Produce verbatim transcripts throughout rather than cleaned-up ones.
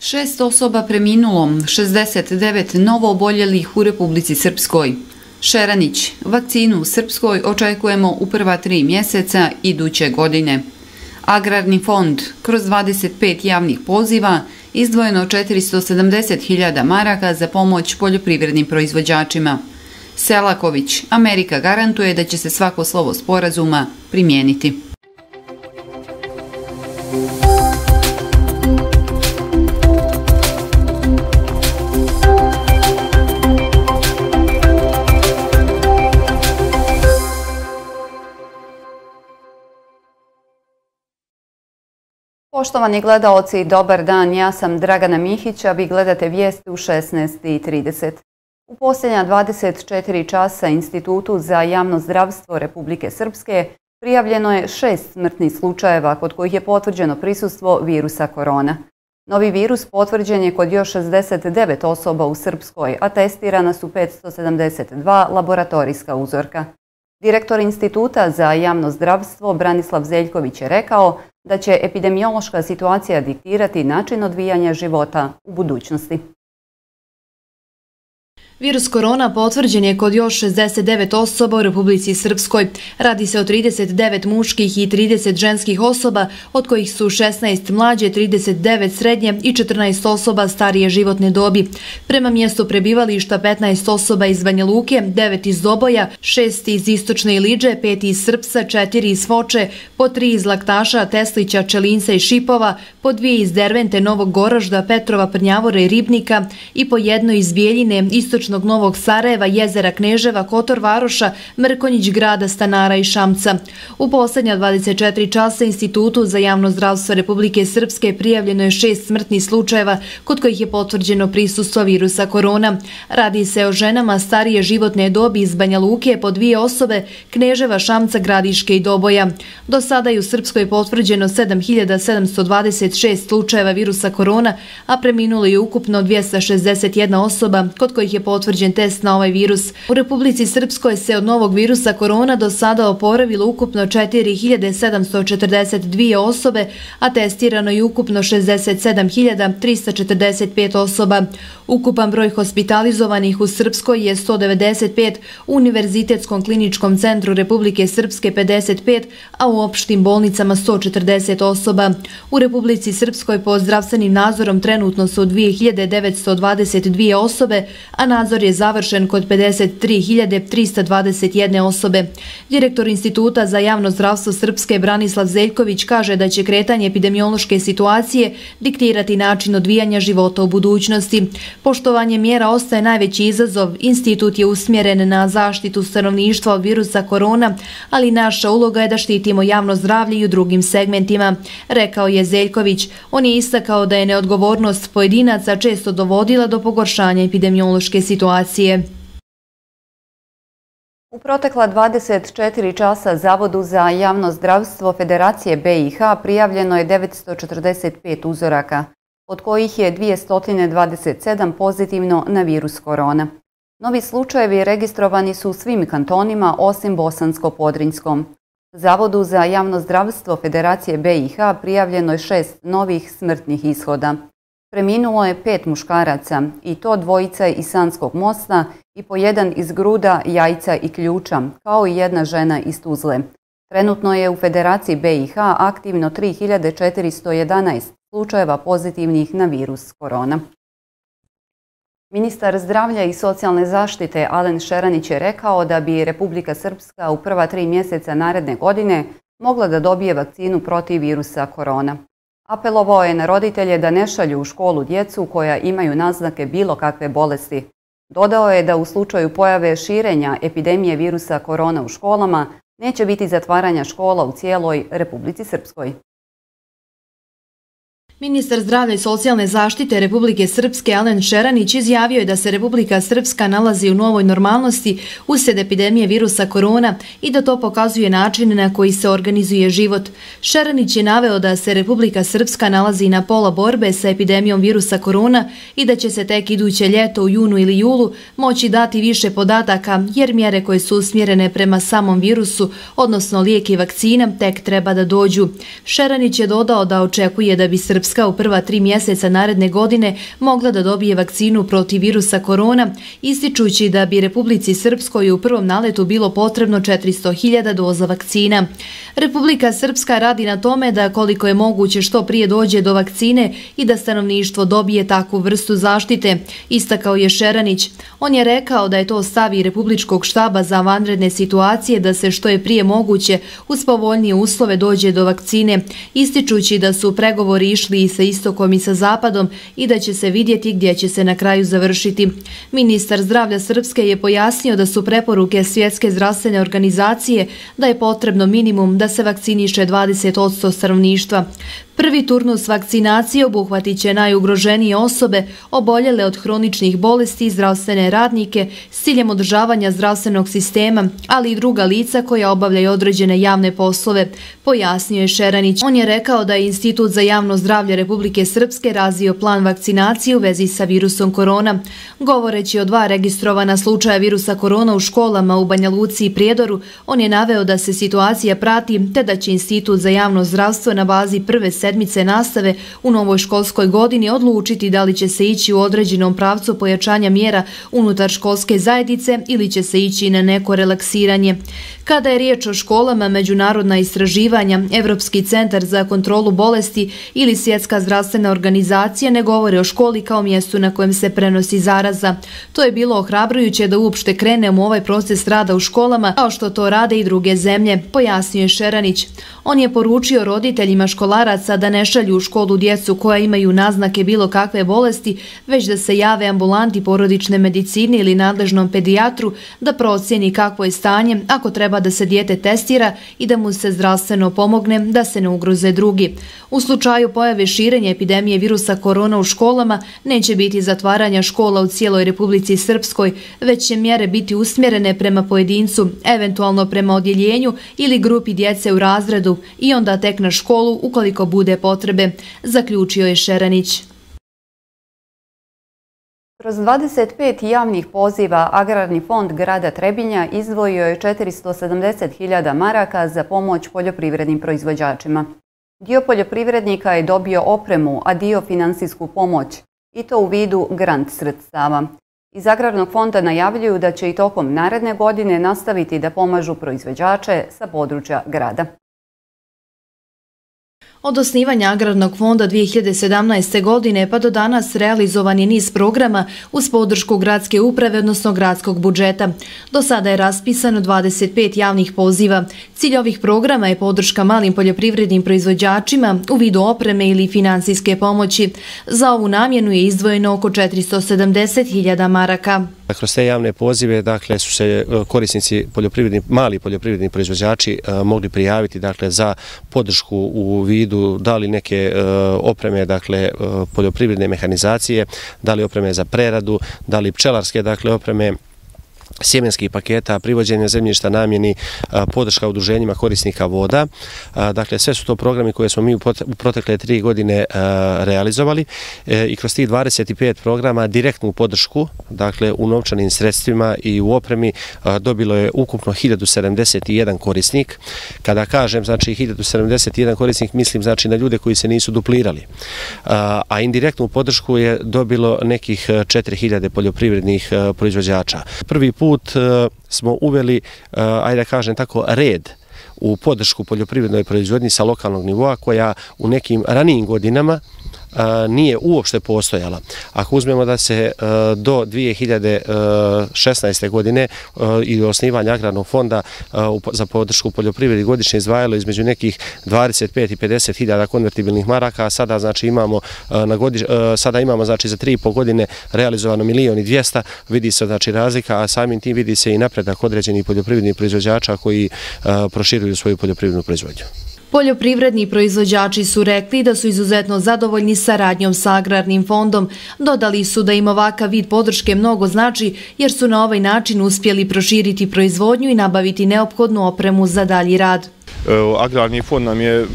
Šest osoba preminulo, šezdeset devet novo oboljelih u Republici Srpskoj. Šeranić, vakcinu u Srpskoj očekujemo u prva tri mjeseca iduće godine. Agrarni fond, kroz dvadeset pet javnih poziva, izdvojeno četiristo sedamdeset hiljada maraka za pomoć poljoprivrednim proizvođačima. Selaković, Amerika garantuje da će se svako slovo sporazuma primijeniti. Poštovani gledaoci, dobar dan, ja sam Dragana Mihić, a vi gledate vijesti u šesnaest i trideset. U posljednja dvadeset četiri časa Institutu za javno zdravstvo Republike Srpske prijavljeno je šest smrtnih slučajeva kod kojih je potvrđeno prisustvo virusa korona. Novi virus potvrđen je kod još šezdeset devet osoba u Srpskoj, a testirana su petsto sedamdeset dva laboratorijska uzorka. Direktor Instituta za javno zdravstvo Branislav Zeljković je rekao da će epidemiološka situacija diktirati način odvijanja života u budućnosti. Virus korona potvrđen je kod još šezdeset devet osoba u Republici Srpskoj. Radi se o trideset devet muških i trideset ženskih osoba, od kojih su šesnaest mlađe, trideset devet srednje i četrnaest osoba starije životne dobi. Prema mjestu prebivališta petnaest osoba iz Banja Luke, devet iz Doboja, šest iz Istočne Iliđe, pet iz Srpsa, četiri iz Foče, po tri iz Laktaša, Teslića, Čelinca i Šipova, po dvije iz Dervente, Novog Goražda, Petrova, Prnjavora i Ribnika i po jedno iz Bijeljine, Istočnog Novog Sarajeva, Jezera Kneževa, Kotor Varoša, Mrkonjić grada, Stanara i Šamca. U posljednja dvadeset četiri časa Institutu za javno zdravstvo Republike Srpske prijavljeno je šest smrtnih slučajeva kod kojih je potvrđeno prisustvo virusa korona. Radi se o ženama starije životne dobi iz Banja Luke po dvije osobe, Kneževa, Šamca, Gradiške i Doboja. Do sada je u Srpskoj potvrđeno sedam hiljada sedamsto dvadeset šest slučajeva virusa korona, a preminulo je ukupno dvjesto šezdeset jedna osoba kod kojih je potvrđen test na ovaj virus. U Republici Srpskoj se od novog virusa korona do sada oporavilo ukupno četiri hiljade sedamsto četrdeset dvije osobe, a testirano je ukupno šezdeset sedam hiljada trista četrdeset pet osoba. Ukupan broj hospitalizovanih u Srpskoj je sto devedeset pet, u Univerzitetskom kliničkom centru Republike Srpske pedeset pet, a u opštim bolnicama sto četrdeset osoba. U Republici Srpskoj pod zdravstvenim nadzorom trenutno su dvije hiljade devetsto dvadeset dvije osobe, a nadzor je završen kod pedeset tri hiljade trista dvadeset jedne osobe. Direktor Instituta za javno zdravstvo Srpske Branislav Zeljković kaže da će kretanje epidemiološke situacije diktirati način odvijanja života u budućnosti. Poštovanje mjera ostaje najveći izazov. Institut je usmjeren na zaštitu stanovništva od virusa korona, ali naša uloga je da štitimo javno zdravlje i u drugim segmentima, rekao je Zeljković. On je istakao da je neodgovornost pojedinaca često dovodila do pogoršanja epidemiološke situacije. U protekla dvadeset četiri časa Zavodu za javno zdravstvo Federacije B i H prijavljeno je devetsto četrdeset pet uzoraka, od kojih je dvjesto dvadeset sedam pozitivno na virus korona. Novi slučajevi registrovani su u svim kantonima osim Bosansko-Podrinjskom. Zavodu za javno zdravstvo Federacije B i H prijavljeno je šest novih smrtnih ishoda. Preminulo je pet muškaraca, i to dvojica iz Sanskog Mosta i po jedan iz Gruda, Jajca i Ključa, kao i jedna žena iz Tuzle. Trenutno je u Federaciji B i H aktivno tri hiljade četiristo jedanaest slučajeva pozitivnih na virus korona. Ministar zdravlja i socijalne zaštite Alen Šeranić je rekao da bi Republika Srpska u prva tri mjeseca naredne godine mogla da dobije vakcinu protiv virusa korona. Apelovao je na roditelje da ne šalju u školu djecu koja imaju naznake bilo kakve bolesti. Dodao je da u slučaju pojave širenja epidemije virusa korona u školama neće biti zatvaranja škola u cijeloj Republici Srpskoj. Ministar zdravlja i socijalne zaštite Republike Srpske Alen Šeranić izjavio je da se Republika Srpska nalazi u novoj normalnosti uslijed epidemije virusa korona i da to pokazuje način na koji se organizuje život. Šeranić je naveo da se Republika Srpska nalazi na pola borbe sa epidemijom virusa korona i da će se tek iduće ljeto u junu ili julu moći dati više podataka jer mjere koje su usmjerene prema samom virusu, odnosno lijek i vakcina, tek treba da dođu. Šeranić je dodao da očekuje da bi Srpska Srpska u prva tri mjeseca naredne godine mogla da dobije vakcinu protiv virusa korona, ističući da bi Republici Srpskoj u prvom naletu bilo potrebno četiristo hiljada doza vakcina. Republika Srpska radi na tome da koliko je moguće što prije dođe do vakcine i da stanovništvo dobije takvu vrstu zaštite, istakao je Šeranić. On je rekao da je to stav i Republičkog štaba za vanredne situacije da se što je prije moguće uz povoljnije uslove dođe do vakcine, ističući da su pregovori išli i sa istokom i sa zapadom i da će se vidjeti gdje će se na kraju završiti. Ministar zdravlja Srpske je pojasnio da su preporuke Svjetske zdravstvene organizacije da je potrebno minimum da se vakciniše dvadeset posto stanovništva. Prvi turnus vakcinacije obuhvatit će najugroženije osobe, oboljele od hroničnih bolesti i zdravstvene radnike s ciljem održavanja zdravstvenog sistema, ali i druga lica koja obavljaju određene javne poslove, pojasnio je Šeranić. On je rekao da je Institut za javno zdravlje Republike Srpske razvio plan vakcinacije u vezi sa virusom korona. Govoreći o dva registrovana slučaja virusa korona u školama u Banja Luci i Prijedoru, on je naveo da se situacija prati te da će Institut za javno zdravstvo na bazi prve sedmice nastave u novoj školskoj godini odlučiti da li će se ići u određenom pravcu pojačanja mjera unutar školske zajednice ili će se ići na neko relaksiranje. Kada je riječ o školama, međunarodna istraživanja, Evropski centar za kontrolu bolesti ili Svjetska zdravstvena organizacija ne govore o školi kao mjestu na kojem se prenosi zaraza. To je bilo ohrabrujuće da uopšte krenemo u ovaj proces rada u školama, kao što to rade i druge zemlje, pojasnio je Šeranić. On je poručio roditeljima školaraca da ne šalju u školu djecu koja imaju naznake bilo kakve bolesti, već da se jave ambulanti porodične medicine ili nadležnom pedijatru da procijeni kakvo je stanje, ako treba da se dijete testira i da mu se zdravstveno pomogne da se ne ugroze drugi. U slučaju pojave širenja epidemije virusa korona u školama neće biti zatvaranja škola u cijeloj Republici Srpskoj, već će mjere biti usmjerene prema pojedincu, eventualno prema odjeljenju ili grupi djece u razredu i onda tek na školu ukoliko bude potrebe, zaključio je Šeranić. Kroz dvadeset pet javnih poziva Agrarni fond grada Trebinja izdvojio je četiristo sedamdeset hiljada maraka za pomoć poljoprivrednim proizvođačima. Dio poljoprivrednika je dobio opremu, a dio finansijsku pomoć, i to u vidu grant sredstava. Iz Agrarnog fonda najavljuju da će i tokom naredne godine nastaviti da pomažu proizvođače sa područja grada. Od osnivanja Agrarnog fonda dvije hiljade sedamnaeste. godine pa do danas realizovan je niz programa uz podršku gradske uprave, odnosno gradskog budžeta. Do sada je raspisano dvadeset pet javnih poziva. Cilj ovih programa je podrška malim poljoprivrednim proizvođačima u vidu opreme ili finansijske pomoći. Za ovu namjenu je izdvojeno oko četiristo sedamdeset hiljada maraka. Kroz te javne pozive dakle, su se korisnici poljoprivredni, mali poljoprivredni proizvođači mogli prijaviti dakle, za podršku u vidu da li neke opreme, dakle, poljoprivredne mehanizacije, da li opreme za preradu, da li pčelarske dakle, opreme, sjemenskih paketa, privođenja zemljišta namjeni, podrška udruženjima korisnika voda. Dakle, sve su to programi koje smo mi u protekle tri godine realizovali i kroz tih dvadeset pet programa direktnu podršku, dakle, u novčanim sredstvima i u opremi dobilo je ukupno hiljadu sedamdeset jedan korisnik. Kada kažem, znači, hiljadu sedamdeset jedan korisnik, mislim, znači, na ljude koji se nisu duplirali. A indirektnu podršku je dobilo nekih četiri hiljade poljoprivrednih proizvođača. Prvi put smo uveli, ajde da kažem tako, red u podršku poljoprivrednoj proizvodnji sa lokalnog nivoa koja u nekim ranijim godinama nije uopšte postojala. Ako uzmemo da se do dvije hiljade šesnaeste. godine i osnivanja Agrarnog fonda za podršku poljoprivredi godišnje izdvajalo između nekih dvadeset pet i pedeset hiljada konvertibilnih maraka, a sada znači imamo na godiš, sada imamo znači za tri i po godine realizovano milion i dvjesto, vidi se znači razlika, a samim tim vidi se i napredak određenih poljoprivrednih proizvođača koji proširuju svoju poljoprivrednu proizvodnju. Poljoprivredni proizvođači su rekli da su izuzetno zadovoljni saradnjom sa Agrarnim fondom. Dodali su da im ovakav vid podrške mnogo znači jer su na ovaj način uspjeli proširiti proizvodnju i nabaviti neophodnu opremu za dalji rad. Agrarni fond nam je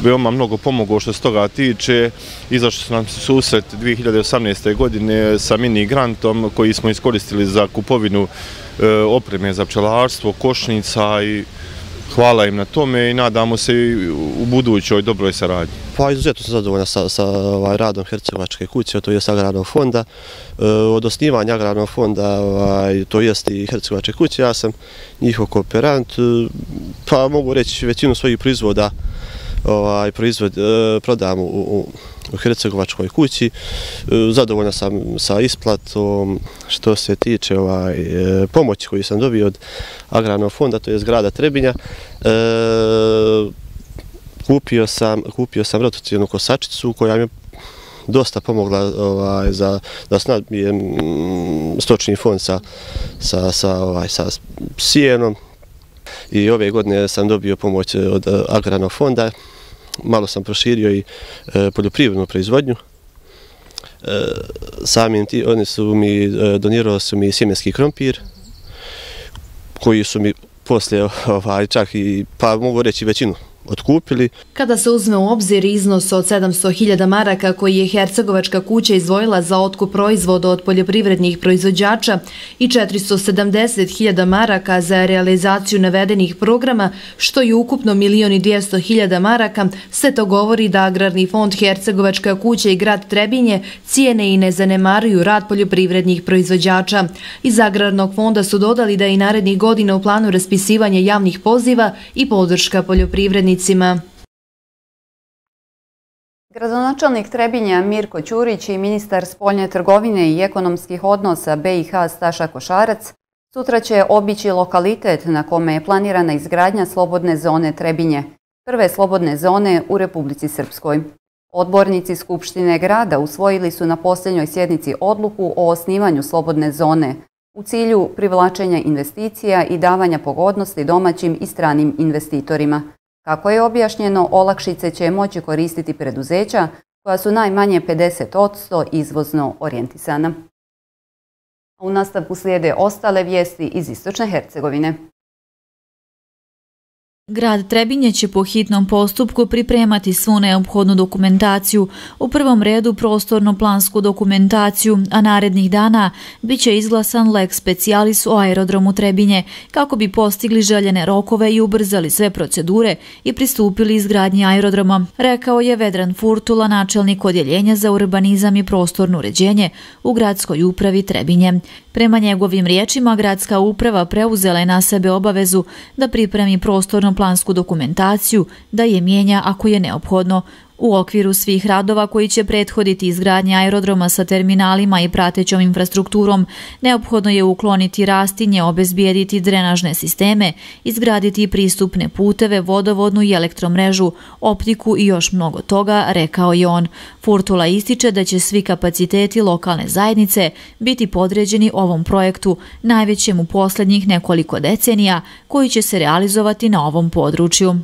veoma mnogo pomogao što se toga tiče. Izašli su nam susret dvije hiljade osamnaeste. godine sa mini grantom koji smo iskoristili za kupovinu opreme za pčelarstvo, košnica i hvala im na tome i nadamo se i u budućoj dobroj saradnji. Pa izuzetno sam zadovoljan sa, sa ovaj, radom Hercegovačke kuće, to je Agrarnog fonda. E, od osnivanja Agrarnog fonda, ovaj, to jest i Hercegovačke kuće, ja sam njihov kooperant, pa mogu reći većinu svojih proizvoda ovaj, proizvod, e, prodam u, u, u Hercegovačkoj kući. E, zadovoljan sam sa isplatom što se tiče ovaj, e, pomoći koju sam dobio od Agrarnog fonda, to je grada Trebinja. E, Kupio sam, kupio sam rotacijnu kosačicu koja mi je dosta pomogla ovaj, za, da snabijem stočni fond sa, sa, sa, ovaj, sa sijenom. I ove godine sam dobio pomoć od Agrarnog fonda. Malo sam proširio i e, poljoprivrednu proizvodnju. E, samim ti, oni su mi, e, donirali su mi sjemenski krompir, koji su mi poslije ovaj, čak i, pa mogu reći većinu, otkupili. Kada se uzme u obzir iznos od sedamsto hiljada maraka koji je Hercegovačka kuća izdvojila za otkup proizvoda od poljoprivrednih proizvođača i četiristo sedamdeset hiljada maraka za realizaciju navedenih programa, što je ukupno milion i dvjesto hiljada maraka, sve to govori da Agrarni fond Hercegovačka kuća i grad Trebinje cijene i ne zanemaruju rad poljoprivrednih proizvođača. Iz Agrarnog fonda su dodali da je i narednih godina u planu raspisivanje javnih poziva i podrška poljoprivrednih. Gradonačelnik Trebinja Mirko Ćurić i ministar spoljne trgovine i ekonomskih odnosa be i ha Staša Košarac sutra će obići lokalitet na kome je planirana izgradnja slobodne zone Trebinje, prve slobodne zone u Republici Srpskoj. Odbornici Skupštine grada usvojili su na posljednjoj sjednici odluku o osnivanju slobodne zone u cilju privlačenja investicija i davanja pogodnosti domaćim i stranim investitorima. Kako je objašnjeno, olakšice će moći koristiti preduzeća koja su najmanje pedeset posto izvozno orijentisana. U nastavku slijede ostale vijesti iz Istočne Hercegovine. Grad Trebinje će po hitnom postupku pripremati svu neophodnu dokumentaciju, u prvom redu prostorno-plansku dokumentaciju, a narednih dana bit će izglasan lex specialis o aerodromu Trebinje, kako bi postigli željene rokove i ubrzali sve procedure i pristupili izgradnji aerodroma, rekao je Vedran Furtula, načelnik odjeljenja za urbanizam i prostorno uređenje u gradskoj upravi Trebinje. Prema njegovim riječima, gradska uprava preuzela je na sebe obavezu da pripremi prostorno plansku dokumentaciju, da je mijenja ako je neophodno. U okviru svih radova koji će prethoditi izgradnje aerodroma sa terminalima i pratećom infrastrukturom, neophodno je ukloniti rastinje, obezbijediti drenažne sisteme, izgraditi pristupne puteve, vodovodnu i elektromrežu, optiku i još mnogo toga, rekao je on. Furtula ističe da će svi kapaciteti lokalne zajednice biti podređeni ovom projektu, najvećem u posljednjih nekoliko decenija, koji će se realizovati na ovom području.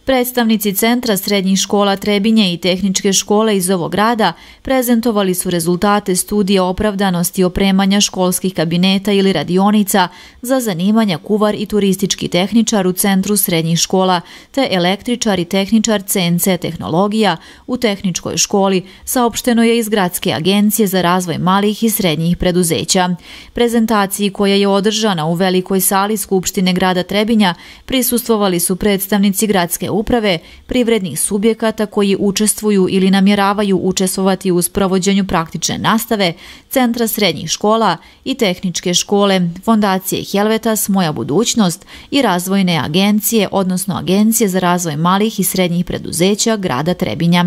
Predstavnici Centra srednjih škola Trebinje i tehničke škole iz ovog grada prezentovali su rezultate studije opravdanosti opremanja školskih kabineta ili radionica za zanimanja kuvar i turistički tehničar u Centru srednjih škola, te električar i tehničar ce en ce tehnologija u tehničkoj školi, saopšteno je iz Gradske agencije za razvoj malih i srednjih preduzeća. Prezentaciji koja je održana u velikoj sali Skupštine grada Trebinja prisustvovali su predstavnici gradske uprave, privrednih subjekata koji učestvuju ili namjeravaju učestvovati u sprovođenju praktične nastave, Centra srednjih škola i tehničke škole, Fondacije Helvetas, Moja budućnost i razvojne agencije, odnosno Agencije za razvoj malih i srednjih preduzeća grada Trebinja.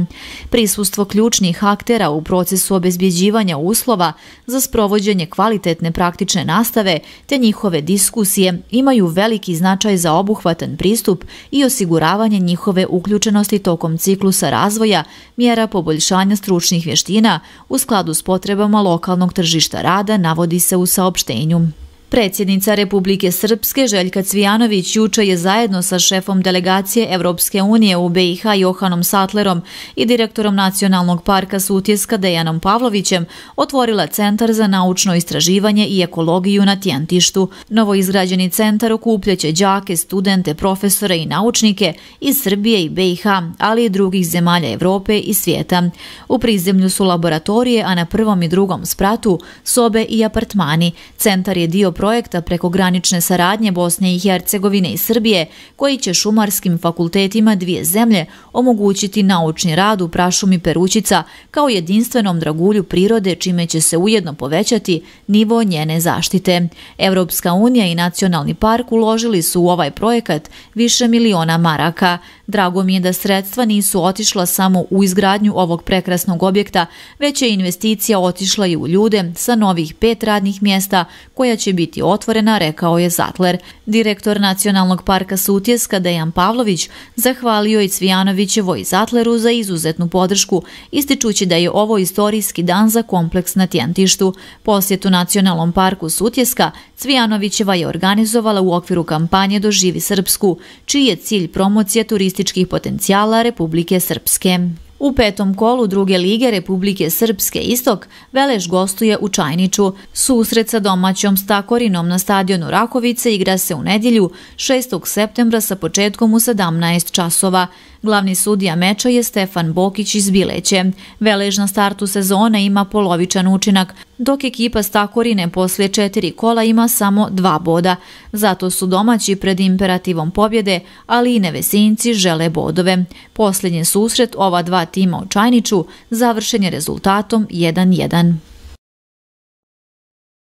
Prisustvo ključnih aktera u procesu obezbjeđivanja uslova za sprovođenje kvalitetne praktične nastave te njihove diskusije imaju veliki značaj za obuhvatan pristup i osiguravanje njihove uključenosti tokom ciklusa razvoja, mjera poboljšanja stručnih vještina u skladu s potrebama lokalnog tržišta rada, navodi se u saopštenju. Predsjednica Republike Srpske Željka Cvijanović juče je zajedno sa šefom delegacije Evropske unije u be i ha Johanom Satlerom i direktorom Nacionalnog parka Sutjeska Dejanom Pavlovićem otvorila Centar za naučno istraživanje i ekologiju na Tjentištu. Novoizgrađeni centar okupljaće đake, studente, profesore i naučnike iz Srbije i be i ha, ali i drugih zemalja Evrope i svijeta. U prizemlju su laboratorije, a na prvom i drugom spratu sobe i apartmani. Centar je dio projekta prekogranične saradnje Bosne i Hercegovine i Srbije, koji će šumarskim fakultetima dvije zemlje omogućiti naučni rad u prašumi Perućica kao jedinstvenom dragulju prirode, čime će se ujedno povećati nivo njene zaštite. Evropska unija i Nacionalni park uložili su u ovaj projekat više miliona maraka. Drago mi je da sredstva nisu otišla samo u izgradnju ovog prekrasnog objekta, već je investicija otišla i u ljude sa novih pet radnih mjesta koja će biti otvorena, rekao je Zatler. Direktor Nacionalnog parka Sutjeska Dejan Pavlović zahvalio i Cvijanovićevoj i Zatleru za izuzetnu podršku, ističući da je ovo istorijski dan za kompleks na Tjentištu. Posjetu Nacionalnom parku Sutjeska Cvijanovićeva je organizovala u okviru kampanje Doživi Srpsku, čiji je cilj promocija turističkih potencijala Republike Srpske. U petom kolu druge lige Republike Srpske Istok Veleš gostuje u Čajniču. Susret sa domaćom Stakorinom na stadionu Rakovice igra se u nedjelju šestog septembra sa početkom u sedamnaest časova. Glavni sudija meča je Stefan Bokić iz Bileće. Velež na startu sezone ima polovičan učinak, dok ekipa Stakorine poslije četiri kola ima samo dva boda. Zato su domaći pred imperativom pobjede, ali i Nevesinci žele bodove. Posljednji susret ova dva tima u Čajniču završen je rezultatom jedan jedan.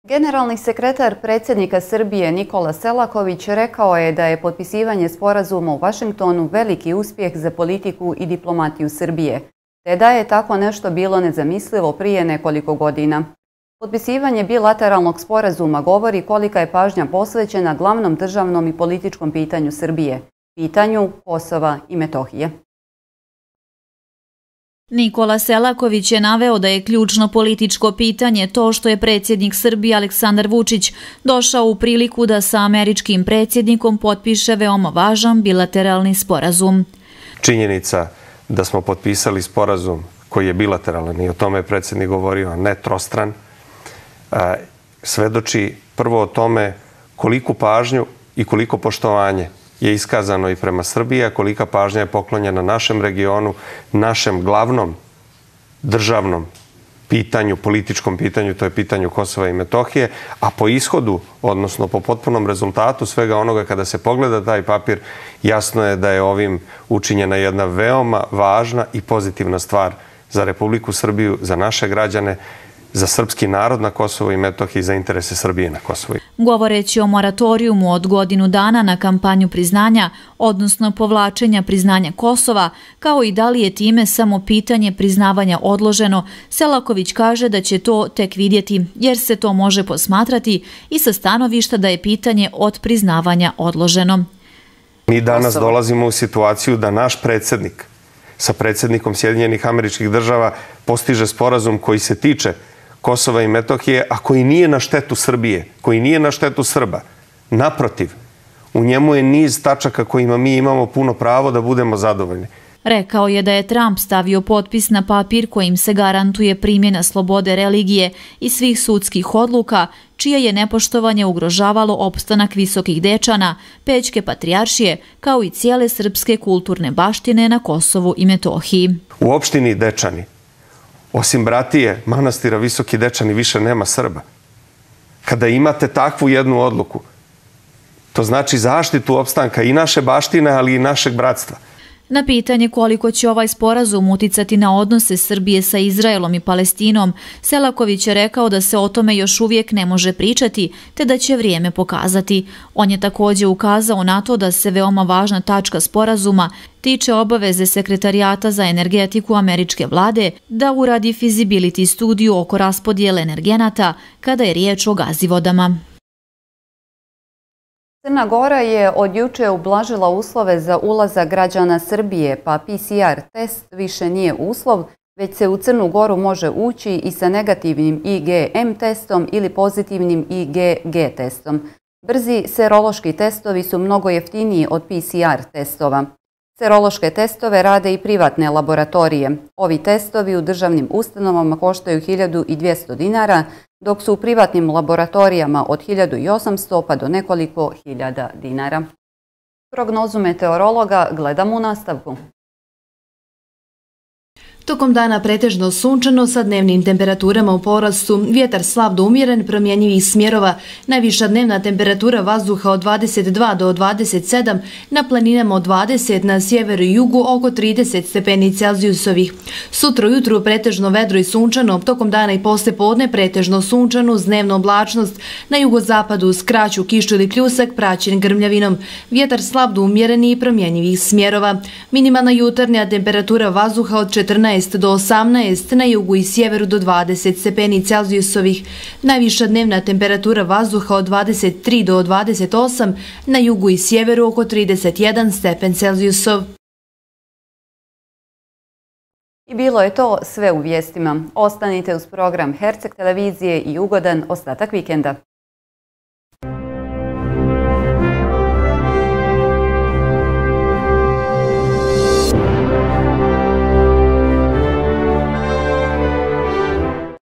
Generalni sekretar predsjednika Srbije Nikola Selaković rekao je da je potpisivanje sporazuma u Vašingtonu veliki uspjeh za politiku i diplomatiju Srbije, te da je tako nešto bilo nezamislivo prije nekoliko godina. Potpisivanje bilateralnog sporazuma govori kolika je pažnja posvećena glavnom državnom i političkom pitanju Srbije, pitanju Kosova i Metohije. Nikola Selaković je naveo da je ključno političko pitanje to što je predsjednik Srbije Aleksandar Vučić došao u priliku da sa američkim predsjednikom potpiše veoma važan bilateralni sporazum. Činjenica da smo potpisali sporazum koji je bilateralan i o tome je predsjednik govorio, ne trostran, svedoči prvo o tome koliku pažnju i koliko poštovanje je iskazano i prema Srbiji, a kolika pažnja je poklonjena našem regionu, našem glavnom državnom pitanju, političkom pitanju, to je pitanju Kosova i Metohije, a po ishodu, odnosno po potpunom rezultatu svega onoga kada se pogleda taj papir, jasno je da je ovim učinjena jedna veoma važna i pozitivna stvar za Republiku Srbiju, za naše građane, za srpski narod na Kosovu i Metohiji, za interese Srbije na Kosovu. Govoreći o moratorijumu od godinu dana na kampanju priznanja, odnosno povlačenja priznanja Kosova, kao i da li je time samo pitanje priznavanja odloženo, Selaković kaže da će to tek vidjeti, jer se to može posmatrati i sa stanovišta da je pitanje od priznavanja odloženo. Mi danas dolazimo u situaciju da naš predsjednik sa predsjednikom Sjedinjenih Američkih Država postiže sporazum koji se tiče Kosova i Metohije, a koji nije na štetu Srbije, koji nije na štetu Srba. Naprotiv, u njemu je niz tačaka kojima mi imamo puno pravo da budemo zadovoljni. Rekao je da je Trump stavio potpis na papir kojim se garantuje primjena slobode religije i svih sudskih odluka, čije je nepoštovanje ugrožavalo opstanak visokih dečana, Pećke patrijaršije, kao i cijele srpske kulturne baštine na Kosovu i Metohiji. U opštini Dečani, osim bratije manastira Visoki Dečani, više nema Srba. Kada imate takvu jednu odluku, to znači zaštitu opstanka i naše baštine, ali i našeg bratstva. Na pitanje koliko će ovaj sporazum uticati na odnose Srbije sa Izraelom i Palestinom, Selaković je rekao da se o tome još uvijek ne može pričati, te da će vrijeme pokazati. On je također ukazao na to da se veoma važna tačka sporazuma tiče obaveze Sekretarijata za energetiku američke vlade da uradi feasibility studiju oko raspodijele energenata kada je riječ o gazivodama. Crna Gora je od juče ublažila uslove za ulazak građana Srbije, pa P C R test više nije uslov, već se u Crnu Goru može ući i sa negativnim I G M testom ili pozitivnim I G G testom. Brzi serološki testovi su mnogo jeftiniji od P C R testova. Serološke testove rade i privatne laboratorije. Ovi testovi u državnim ustanovama koštaju hiljadu dvjesto dinara, dok su u privatnim laboratorijama od hiljadu osamsto pa do nekoliko hiljada dinara. Prognozu meteorologa gledamo u nastavku. Tokom dana pretežno sunčano sa dnevnim temperaturama u porastu, vjetar slab do umjeren, promjenjivih smjerova, najviša dnevna temperatura vazduha od dvadeset dva do dvadeset sedam, na planinama od dvadeset, na sjeveru i jugu oko trideset stepeni Celzijusovih. Sutra ujutru pretežno vedro i sunčano, tokom dana i posle podne pretežno sunčano uz dnevnu oblačnost, na jugozapadu uz kraću kišu ili pljusak praćen grmljavinom, vjetar slab do umjereni i promjenjivih smjerova. Minimalna jutarnja temperatura vazduha od četrnaest do osamnaest, na jugu i sjeveru do dvadeset stepeni Celzijusovih, najviša dnevna temperatura vazduha od dvadeset tri do dvadeset osam, na jugu i sjeveru oko trideset jedan stepen Celzijusov. I bilo je to sve u vijestima. Ostanite uz program Herceg televizije i ugodan ostatak vikenda.